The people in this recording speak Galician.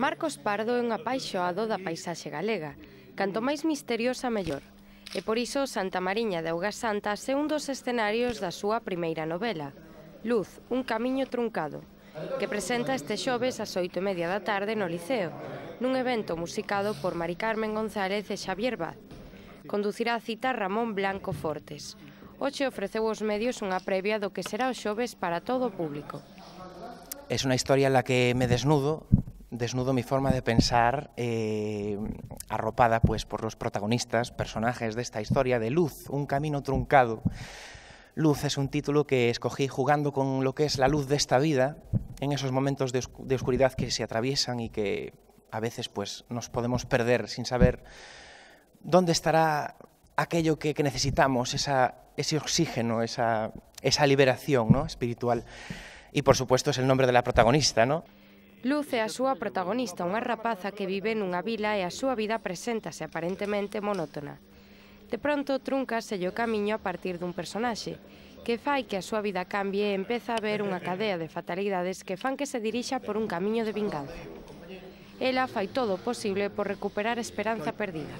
Marcos Pardo é un apaixoado da paisaxe galega, canto máis misteriosa mellor, e por iso Santa Mariña de Augasantas é un dos escenarios da súa primeira novela, Luz, un camiño truncado, que presenta este xoves ás 8:30 da tarde no Liceo, nun evento musicado por Mari Carmen González e Xavier Vaz. Conducirá a cita Ramón Blanco Fortes. Hoxe ofreceu aos medios unha previa do que será o xoves para todo o público. Es una historia en la que me desnudo mi forma de pensar, arropada pues por los protagonistas, personajes de esta historia de Luz, un camino truncado. Luz es un título que escogí jugando con lo que es la luz de esta vida, en esos momentos de oscuridad que se atraviesan y que a veces pues nos podemos perder sin saber dónde estará aquello que necesitamos, ese oxígeno, esa liberación, ¿no?, espiritual. Y por supuesto es el nombre de la protagonista, ¿no? Luz é a súa protagonista, unha rapaza que vive nunha vila e a súa vida preséntase aparentemente monótona. De pronto truncase o camiño a partir dun personaxe, que fai que a súa vida cambie e empeza a ver unha cadea de fatalidades que fan que se dirixa por un camiño de vinganza. Ela fai todo o posible por recuperar a esperanza perdida.